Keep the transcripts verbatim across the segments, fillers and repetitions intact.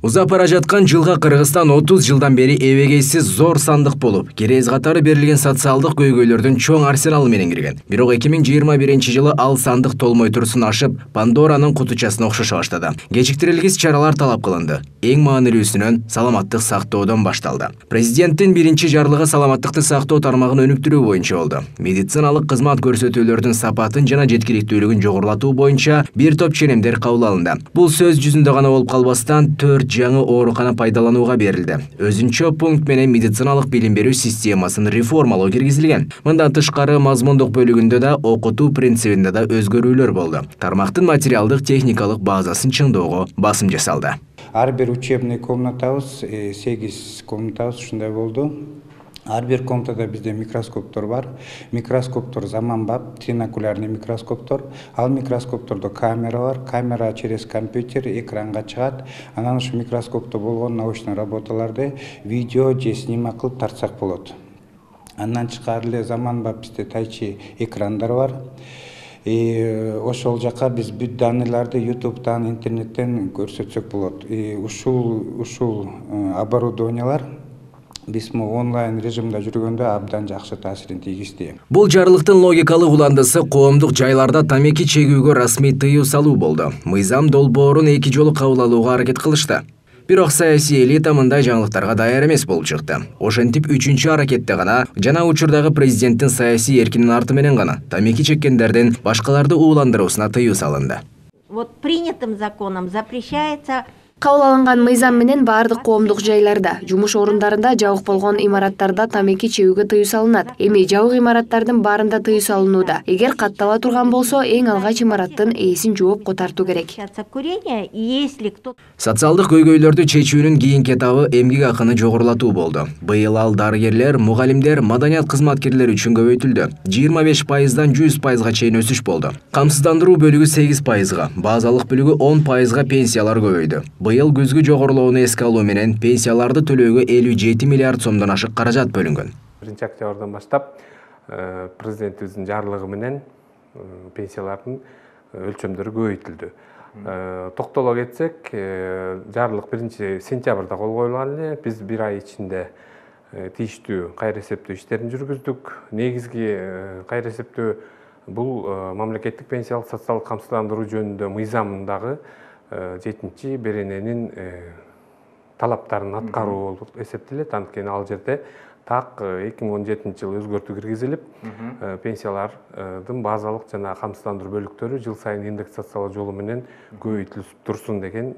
Узап бара жаткан жылга Кыргызстан отуз жылдан бери эбегейсиз зор сандык болуп, керез катары берилген социалдык көйгөйлөрдүн чоң арсеналы менен кирген. Бирок эки миң жыйырма биринчи жылы ал сандык толмой турсун ашып, Пандоранын кутучасына окшошо баштады. Кечиктирилгис чаралар талап кылынды. Эң маанилүүсүнөн саламаттык сактоодон башталды. Президенттин биринчи жарлыгы саламаттыкты сактоо тармагын өнүктүрүү боюнча болду. Медициналык кызмат көрсөтүүлөрдүн сапатын жана жеткиликтүүлүгүн жогорулатуу боюнча бир топ ченемдер кабыл алынды. Бул сөз жүзүндө гана болуп калбастан төрт жаңы оорукана пайдаланууга берилди. Өзүнчө пункт менен медициналык билим берүү системасын реформалоо киргизилген. Мындан тышкары мазмундук бөлүгүндө да, окутуу принцибинде да өзгөрүүлөр болду. Тармактын материалдык техникалык базасын чыңдоого басым жасалды. Ар бир учебный комнатабыз, сегиз комнатабыз ушундай болду. Ар бир комнатада бизде микроскоптор бар. Микроскоптор заманбап, тринокулярный микроскоптор. Ал микроскоптордо камера бар. Камера через компьютер экранга чыгат. Анан ушу микроскопто болгон научный работаларды видео же снимок кылып тартсак болот. Андан тышкары эле заманбап бизде тайчи экрандар бар. И ошол жака биз бүт данныйларды ютубтан, интернеттен көрсөтсөк болот. И ушул ушул оборудованиялар биз онлайн режимде жүргөндө абдан жакшы таасирин тийгизди. Бул жарлыктын логикалык уландысы коомдук жайларда тамеки чегүүгө расмий тыюу салуу болду. Мыйзам долбоорун эки жолу кабыл алууга аракет кылышты. Бирок саясий элита мындай жаңылыктарга даяр эмес болуп чыкты. Ошентип үчүнчү аракетте гана жана учурдагы президенттин саясий эркинин арты менен гана тамеки чеккендердин башкаларды ууландыруусуна тыюу салынды. Вот принятым законом запрещается Кабыл алынган мыйзам менен баардык коомдук жайларда, жумуш орундарында, жабык болгон имараттарда тамеки чегүүгө тыюу салынат. Эми жабык имараттардын баарында тыюу салынууда. Эгер каттала турган болсо, эң алгач имараттын ээсин жоопко тартуу керек. Социалдык көйгөйлөрдү чечүүнүн кийинки этабы эмгек акыны жогорулатуу болду. Быйыл ал дарыгерлер, мугалимдер, маданият кызматкерлери үчүн көбөйтүлдү. жыйырма беш пайыздан жүз пайызга чейин өсүш болду. Камсыздандыруу бөлүгү сегиз пайызга, базалык бөлүгү он пайызга пенсиялар көбөйдү. Быйыл күзгү жогорулоону эске алуу менен пенсияларды төлөөгө элүү жети миллиард сомдон ашык каражат бөлүнгөн. биринчи октябрдан баштап президентибиздин жарлыгы менен пенсиялардын өлчөмдөрү көбөйтүлдү. Токтоло кетсек, жарлык биринчи сентябрда кол коюлган эле. Биз бир ай ичинде тийиштүү кайра эсептөө иштерин жүргүздүк. Негизги кайра эсептөө бул мамлекеттик пенсиялык социалдык камсыздандыруу жөнүндө мыйзамындагы жетинчи берененин талаптарын аткаруу болуп эсептелет. Анткени ал жерде так эки миң он жетинчи жылы өзгөртүү киргизилип, пенсиялардын базалык жана камсыздандыруу бөлүктөрү жыл сайын индексациялоо жолу менен көбөйтүлүп турсун деген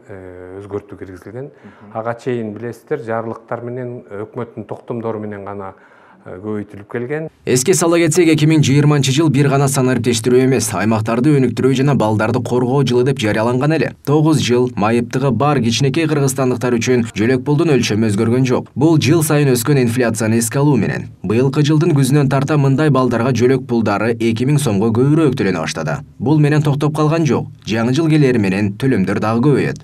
өзгөртүү киргизилген. Ага чейин билесиздер, жарлыктар менен өкмөттүн токтомдору менен гана көбөйтүлүп келген. Эске сала кетсек, эки миң жыйырманчы жыл бир гана санариптештирүү эмес, аймактарды өнүктүрүү жана балдарды коргоо жылы деп жарыяланган эле. тогуз жыл майыптыгы бар кичинекей кыргызстандыктар үчүн жөлөк пулдун өлчөмү өзгөргөн жок. Бул жыл сайын өскөн инфляцияны эске алуу менен. Быйылкы жылдын күзүнөн тарта мындай балдарга жөлөк пулдары эки миң сомго көбүрөөк төлөнө баштады. Бул менен токтоп калган жок. Жаңы жыл келери менен төлөмдөр дагы көбөйөт.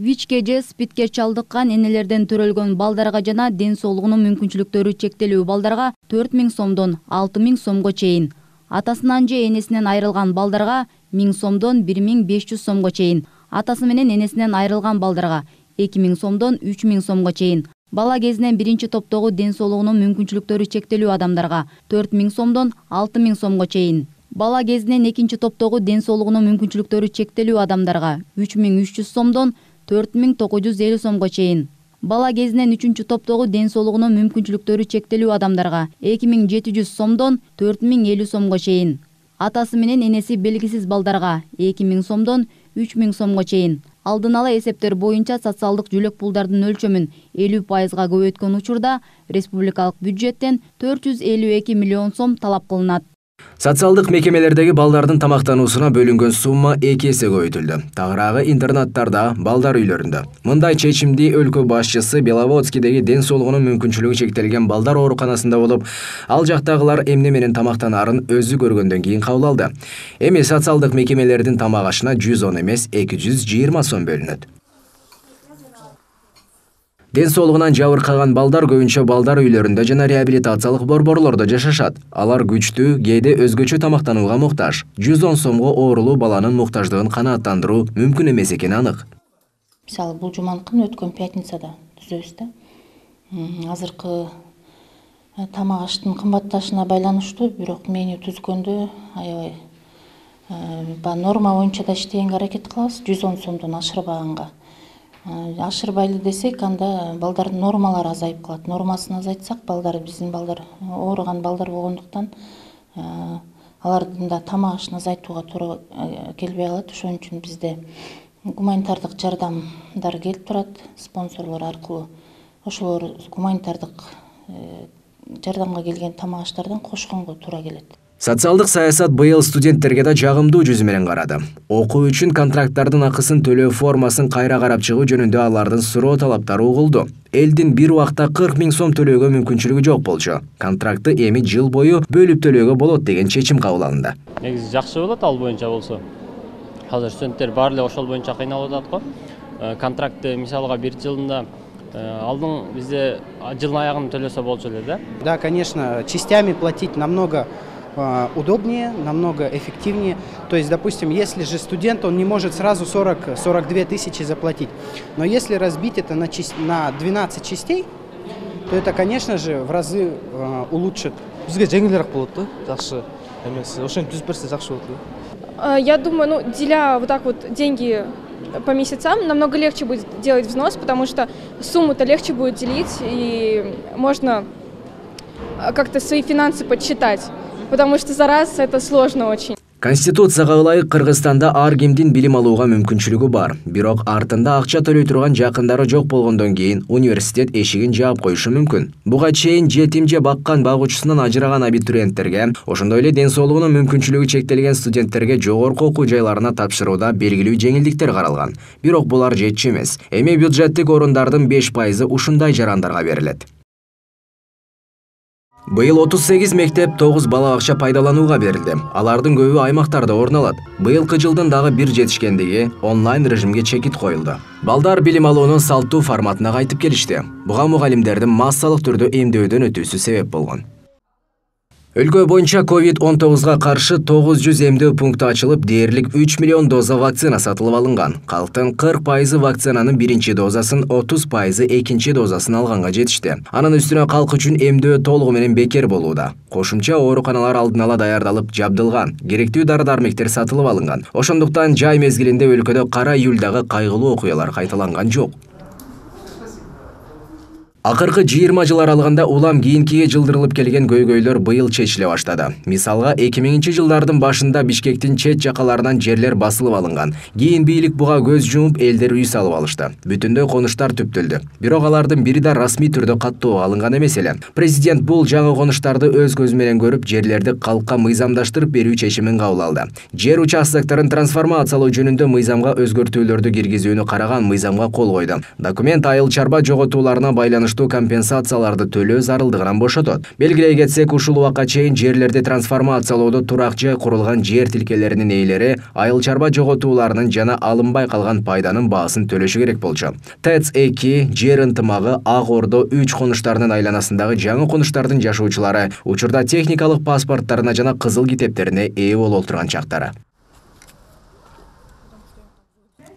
ВИЧке же СПИДке чалдыккан энелерден төрөлгөн балдарга жана ден соолугунун мүмкүнчүлүктөрү чектелүү балдарга төрт миң сомдон алты миң сомго чейин, атасынан же энесинен айрылган балдарга миң сомдон бир миң беш жүз сомго чейин, атасы менен энесинен айрылган балдарга эки миң сомдон үч миң сомго чейин, бала кезинен биринчи топтогу ден соолугунун мүмкүнчүлүктөрү чектелүү адамдарга төрт миң сомдон алты миң сомго чейин, бала кезинен экинчи топтогу ден соолугунун мүмкүнчүлүктөрү чектелүү адамдарга үч миң үч жүз сомдон төрт миң тогуз жүз элүү сомго чейин, бала кезинен үчүнчү топтогу ден соолугунун мүмкүнчүлүктөрү чектелүү адамдарга эки миң жети жүз сомдон төрт миң элүү сомго чейин, атасы менен энеси белгисиз балдарга эки миң сомдон үч миң сомго чейин. Алдын ала эсептер боюнча социалдык жөлөк пулдардын өлчөмүн элүү пайызга көбөйткөн учурда республикалык бюджеттен төрт жүз элүү эки миллион сом талап кылынат. Социалдык мекемелердеги балдардын тамактануусуна бөлүнгөн сумма эки эсе көбөйтүлдү. Тагыраагы интернаттарда, балдар үйлөрүндө. Мындай чечимди өлкө башчысы Беловодскийдеги ден соолугунун мүмкүнчүлүгү чектелген балдар ооруканасында болуп, ал жактагылар эмне менен тамактанаарын өзү көргөндөн кийин кабыл алды. Эми социалдык мекемелердин тамак ашына жүз он эмес эки жүз жыйырма сом бөлүнөт. Ден соолугунан жабыркаган балдар көбүнчө балдар үйлөрүндө жана реабилитациялык борборлордо жашашат. Алар күчтүү, кээде өзгөчө тамактанууга муктаж. жүз он сомго оорулуу баланын муктаждыгын канааттандыруу мүмкүн эмес экени анык. Мисалы бул жуманкыны өткөн пятницада түзөбүз да. Азыркы тамак аштын кымбатташына байланыштуу, бирок меню түзгөндө аябай норма боюнча да иштегенге аракет кылабыз, жүз он сомдон ашырбаганга. Ашырбайлы десек, анда балдардын нормалары азайып калат. Нормасын азайтсак, балдар, биздин балдар ооруган балдар болгондуктан алардын да тамак ашын азайтууга туура келбей калат. Ошон үчүн бизде гуманитардык жардамдар келип турат, спонсорлор аркылуу. Ошолор гуманитардык жардамга келген тамак аштардан кошконго туура келет. Социалдык саясат быйыл студенттерге да жагымдуу жүзү менен карады. Окуу үчүн контракттардын акысын төлөө формасын кайра карап чыгуу жөнүндө алардын суроо талаптары угулду. Элдин бир убакта кырк миң сом төлөөгө мүмкүнчүлүгү жок болчу. Контрактты эми жыл бою бөлүп төлөөгө болот деген чечим кабыл алынды. Негизи жакшы болот ал боюнча болсо. Азыр студенттер баары эле ошол боюнча кыйналып атат го. Контрактты мисалга бир жылында алдын бизде жылдын аягында төлөсө болчу эле да. Да, конечно, частями платить намного удобнее, намного эффективнее. То есть, допустим, если же студент, он не может сразу сорок — сорок две тысячи заплатить. Но если разбить это на, на двенадцать частей, то это, конечно же, в разы э, улучшит. Бизге жеңилирээк болот да, жакшы эмес. Ошентип түзүп берсе жакшы болот да. Я думаю, ну, деля вот так вот деньги по месяцам, намного легче будет делать взнос, потому что сумму-то легче будет делить, и можно как-то свои финансы подсчитать. Потому что за раз это сложно очень. Конституцияга ылайык Кыргызстанда ар кимдин билим алууга мүмкүнчүлүгү бар. Бирок артында акча төлөй турган жакындары жок болгондон кийин университет эшигин жаап коюшу мүмкүн. Буга чейин жетим же баккан багуучусунан ажыраган абитуриенттерге, ошондой эле ден соолугунун мүмкүнчүлүгү чектелген студенттерге жогорку окуу жайларына тапшырууда белгилүү жеңилдиктер каралган. Бирок булар жетчү эмес. Эми бюджеттик орундардын беш пайызы ушундай жарандарга берилет. Быйыл отуз сегиз мектеп, тогуз бала бакча пайдаланууга берилди. Алардын көбү аймактарда орун алат. Быйылкы жылдын дагы бир жетишкендиги онлайн режимге чекит коюлду. Балдар билим алуунун салттуу форматына кайтып келишти. Буга мугалимдердин массалык түрдө эмдөөдөн өтүүсү себеп болгон. Өлкө боюнча ковид он тогузга каршы тогуз жүз эмдөө пункту ачылып, дээрлик үч миллион доза вакцина сатылып алынган. Калктын кырк пайызы вакцинанын биринчи дозасын, отуз пайызы экинчи дозасын алганга жетишти. Анын үстүнө калк үчүн эмдөө толугу менен бекер болууда. Кошумча ооруканалар алдын ала даярдалып жабдылган, керектүү дары-дармектер сатылып алынган. Ошондуктан жай мезгилинде өлкөдө кара июлдагы кайгылуу окуялар кайталанган жок. Акыркы жыйырма жыл аралыгында улам кийинкиге жылдырылып келген көйгөйлөр быйыл чечиле баштады. Мисалга, эки миңинчи жылдардын башында Бишкектин чет жакаларынан жерлер басылып алынган. Кийин бийлик буга көз жумуп, элдер үй салып алышты. Бүтүндөй конуштар түптөлдү. Бирок алардын бири да расмий түрдө каттоого алынган эмес эле. Президент бул жаңы конуштарды өз көзү менен көрүп, жерлерди калкка мыйзамдаштырып берүү чечимин кабыл алды. Жер участокторун трансформациялоо жөнүндө мыйзамга өзгөртүүлөрдү киргизүүнү караган мыйзамга кол койду. Документ айыл чарба жоготууларына байланыштуу компенсацияларды төлөө зарылдыгынан бошотот. Белгилей кетсек, ушул убакка чейин жерлерди трансформациялоодо турак жай курулган жер тилкелеринин ээлери айыл чарба жоготууларынын жана алынбай калган пайданын баасын төлөшү керек болчу. ТЭЦ эки, жер ынтымагы, Ак Ордо үч конуштарынын айланасындагы жаңы конуштардын жашоочулары учурда техникалык паспорттарына жана кызыл китептерине ээ болуп турган чактары.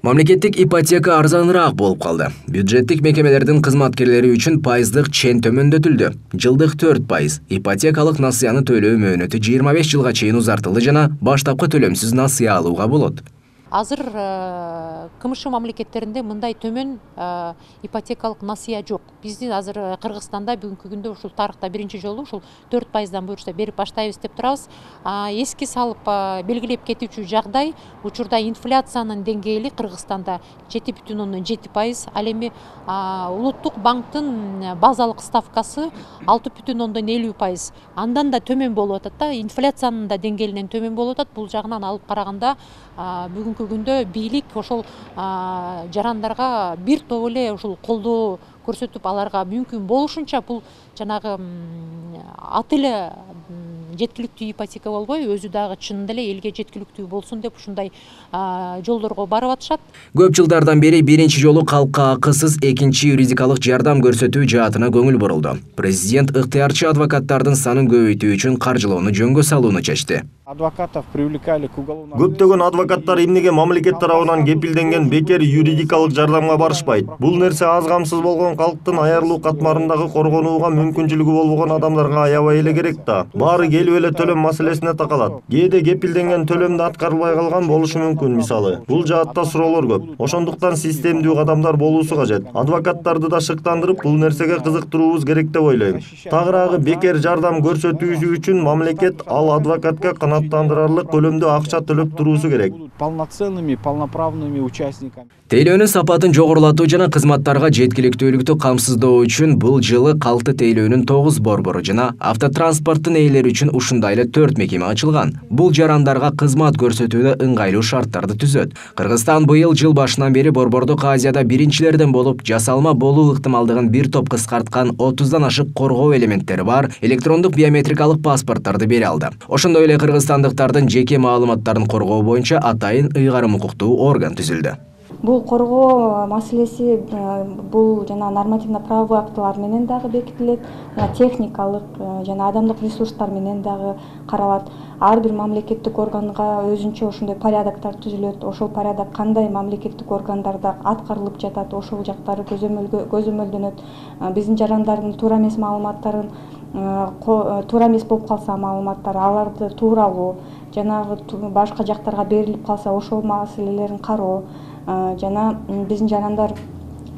Мамлекеттик ипотека арзаныраак болуп калды. Бюджеттик мекемелердин кызматкерлери үчүн пайыздык чен төмөндөтүлдү. Жылдык төрт пайыз. Ипотекалык насыяны төлөө мөөнөтү жыйырма беш жылга чейин узартылды жана баштапкы төлөмсүз насыя алууга болот. Азыр КМШ мамлекеттеринде мындай төмөн ипотекалык насыя жок. Биздин азыр Кыргызстанда бүгүнкү күндө ушул тарыхта биринчи жолу ушул төрт пайыздан буюрса берип баштайбыз деп турабыз. Эски салып белгилеп кетүүчү жагдай, учурда инфляциянын деңгээли Кыргызстанда жети бүтүн ондон жети пайыз, ал эми улуттук банктын базалык ставкасы алты бүтүн ондон элүү пайыз. Андан да төмөн болуп атат да, инфляциянын да деңгээлинен төмөн болуп атат. Бул жагынан алып караганда бүгүнкү күндө бийлик ошол жарандарга бир топ эле ушул колдоо көрсөтүп, аларга мүмкүн болушунча бул жанагы аты эле жеткиликтүү ипотека болбой, өзү дагы чынында эле элге жеткиликтүү болсун деп ушундай жолдорго барып атышат. Көп жылдардан бери биринчи жолу калкка акысыз экинчи юридикалык жардам көрсөтүү жаатына көңүл бурулду. Президент ыктыярчы адвокаттардын санын көбөйтүү үчүн каржылоону жөнгө салууну чечти. Адвокатов привлекали к уголовному. Көптөгөн адвокаттар эмнеге мамлекет тарабынан кепилденген бекер юридикалык жардамга барышпайт? Бул нерсе аз камсыз болгон калктын аярлуу катмарындагы коргонууга мүмкүнчүлүгү болбогон адамдарга аябай эле керек да. Баары келип эле төлөм маселесине такалат. Кээде кепилденген төлөмдү аткарылбай калган болушу мүмкүн мисалы. Бул жаатта суроолор көп. Ошондуктан системдүү кадамдар болуусу кажет. Адвокаттарды да шыктандырып, бул нерсеге кызыктырууубуз керек деп ойлойм. Тагыраагы бекер жардам көрсөтүүсү үчүн мамлекет ал адвокатка канааттандырарлык көлөмдө акча төлөп туруусу керек. Полноценными, полноправными участниками. Тейлөөнүн сапатын жогорулатуу жана кызматтарга жеткиликтүүлүктү камсыздоо үчүн бул жылы калкты тейлөөнүн тогуз борбору жана автотранспорттун ээлери үчүн ушундай эле төрт мекеме ачылган. Бул жарандарга кызмат көрсөтүүдө ыңгайлуу шарттарды түзөт. Кыргызстан быйыл жыл башынан бери Борбордук Азияда биринчилерден болуп, жасалма болуу ыктымалдыгын бир топ кыскарткан отуздан ашык коргоо элементтери бар электрондук биометрикалык паспорттарды бере алды. Ошондой эле кыргызстандыктардын жеке маалыматтарын коргоо боюнча атайын ыйгарым укуктуу орган түзүлдү. Бул коргоо маселеси бул жана нормативно правовой актылар менен дагы бекитилет, техникалык жана адамдык ресурстар менен дагы каралат. Ар бир мамлекеттик органга өзүнчө ошондой порядоктор түзүлөт. Ошол порядок кандай мамлекеттик органдарда аткарылып жатат, ошол жактары көзөмөлдөнөт. Биздин жарандардын туура эмес маалыматтарын туура эмес болуп калса маалыматтар, аларды тууралоо, жанагы башка жактарга берилип калса ошол маселелерин кароо жана биздин жарандар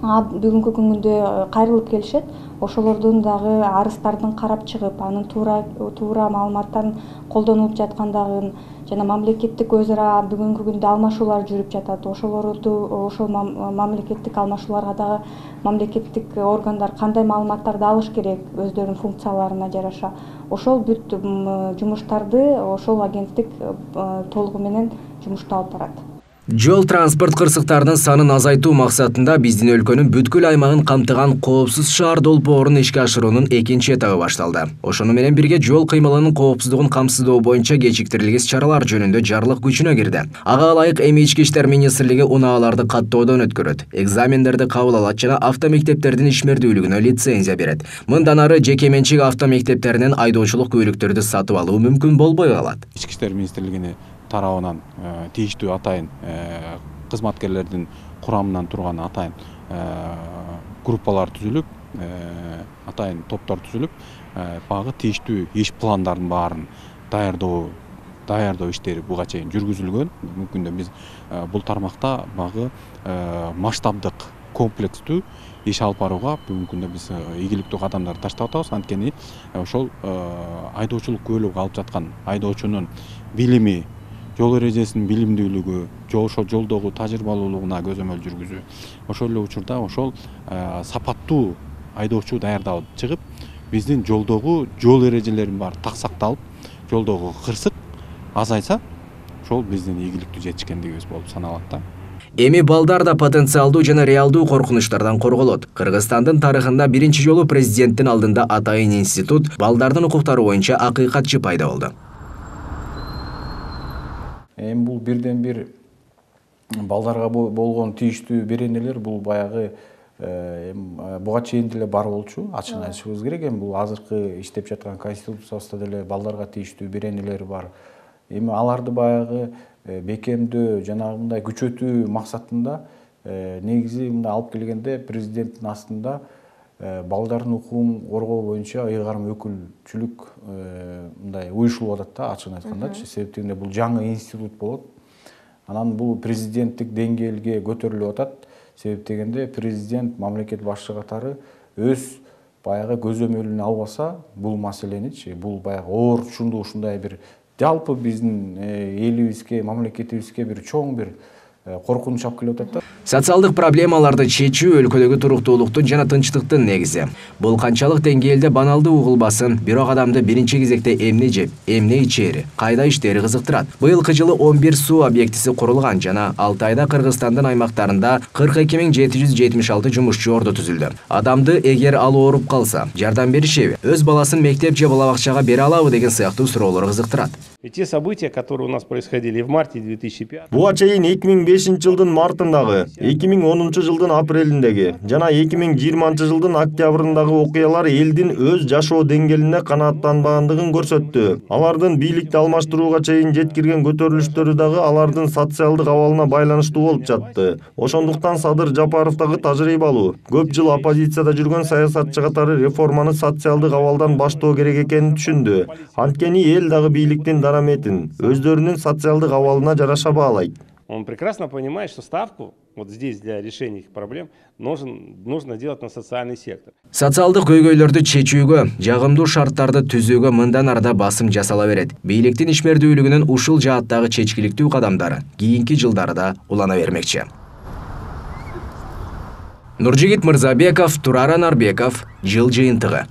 бүгүнкү күндө кайрылып келишет, ошолордун дагы арыздарын карап чыгып, анын туура туура маалыматтарын колдонуп жаткандыгын жана мамлекеттик өз ара бүгүнкү күндө алмашуулар жүрүп жатат. Ошолорду ошол мамлекеттик алмашууларга дагы мамлекеттик органдар кандай маалыматтарды алыш керек өздөрүнүн функцияларына жараша. Ошол бүт жумуштарды ошол агенттик толугу менен жумуштап алып барат. Жол транспорт кырсыктарынын санын азайтуу максатында биздин өлкөнүн бүткүл аймагын камтыган коопсуз шаар долбоорун ишке ашыруунун экинчи этабы башталды. Ошону менен бирге жол кыймылынын коопсуздугун камсыздоо боюнча кечиктирилгис чаралар жөнүндө жарлык күчүнө кирди. Ага ылайык эми Ички иштер министрлиги унааларды каттоодон өткөрөт, экзамендерди кабыл алат жана автомектептердин ишмердүүлүгүнө лицензия берет. Мындан ары жеке менчик автомектептеринен айдоочулук күбөлүктөрдү сатып алуу мүмкүн болбой калат. Ички иштер министрлигине тарабынан тийиштүү атайын кызматкерлердин курамынан турган атайын группалар түзүлүп, атайын топтор түзүлүп, багы тийиштүү иш пландарын баарын даярдоо даярдоо иштери буга чейин жүргүзүлгөн. Бүгүнкү күндө биз бул тармакта багы масштабдык комплекстүү иш алып барууга бүгүнкү күндө биз ийгиликтүү кадамдар таштап атабыз. Анткени ошол айдоочулук күбөлүгү алып жаткан айдоочунун билими, жол эрежесинин билимдүүлүгү, ошол жолдогу тажрыйбалуулугуна көзөмөл жүргүзүү, ошол эле учурда ошол сапаттуу айдоочу даярдалып чыгып, биздин жолдогу жол эрежелерин баары так сакталып, жолдогу кырсык азайса, ошол биздин ийгиликтүү жетишкендигибиз болуп саналат да. Эми балдар да потенциалдуу жана реалдуу коркунучтардан корголот. Кыргызстандын тарыхында биринчи жолу президенттин алдында атайын институт балдардын укуктары боюнча акыйкатчы пайда болду. Эми бул бирден бир балдарга болгон тийиштүү беренелер бул баягы буга чейин деле бар болчу, ачык айтышыбыз керек. Эми бул азыркы иштеп жаткан конституциябызда деле балдарга тийиштүү беренелер бар. Эми аларды баягы бекемдөө жанагы мындай күчөтүү максатында негизи мындай алып келгенде президенттин астында балдардын укугун коргоо боюнча ыйгарым өкүлчүлүк мындай уюшулуп атат да, ачыгын айткандачы. Себептен бул жаңы институт болот. Анан бул президенттик деңгээлге көтөрүлүп атат. Себеп дегенде президент мамлекет башчы катары өз баягы көзөмөлүнө албаса бул маселеничи, бул баягы оор чунду ушундай бир жалпы биздин элибизге, мамлекетибизге бир чоң бир коркунуч алып келип атат да. Социалдык проблемаларды чечүү өлкөдөгү туруктуулуктун жана тынчтыктын негизи. Бул канчалык деңгээлде баналдуу угулбасын, бирок адамды биринчи кезекте эмне жеп, эмне ичери, кайда иштери кызыктырат. Быйылкы жылы он бир суу объектиси курулган жана алты айда Кыргызстандын аймактарында кырк эки миң жети жүз жетимиш алты жумушчу орду түзүлдү. Адамды эгер ал ооруп калса, жардам беришеби, өз баласын мектеп же бала бакчага бере алабы деген сыяктуу суроолор кызыктырат. Те события, которые у нас происходили в марте две тысячи пятого. Буга чейин эки миң бешинчи жылдын мартындагы, эки миң онунчу жылдын апрелиндеги жана эки миң жыйырманчы жылдын октябрындагы окуялар элдин өз жашоо деңгээлине канааттанбагандыгын көрсөттү. Алардын бийликти алмаштырууга чейин жеткирген көтөрүлүштөрү дагы алардын социалдык абалына байланыштуу болуп жатты. Ошондуктан Садыр Жапаровдагы тажрыйбалуу, көп жыл оппозицияда жүргөн саясатчы катары реформаны социалдык абалдан баштоо керек экенин түшүндү. Анткени эл дагы бийликтин дараметин өздөрүнүн социалдык абалына жараша баалайт. Он прекрасно понимает, что ставку вот здесь для решения их проблем нужен, нужно делать на социальный сектор. Социалдык көйгөйлөрдү чечүүгө, жагымдуу шарттарды түзүүгө мындан арда басым жасала берет. Бийликтин ишмердүүлүгүнүн ушул жааттагы чечкиликтүү кадамдары кийинки жылдарда улана бермекчи. Нуржигит Мырзабеков, Турар Анарбеков, Жыл жыйынтыгы.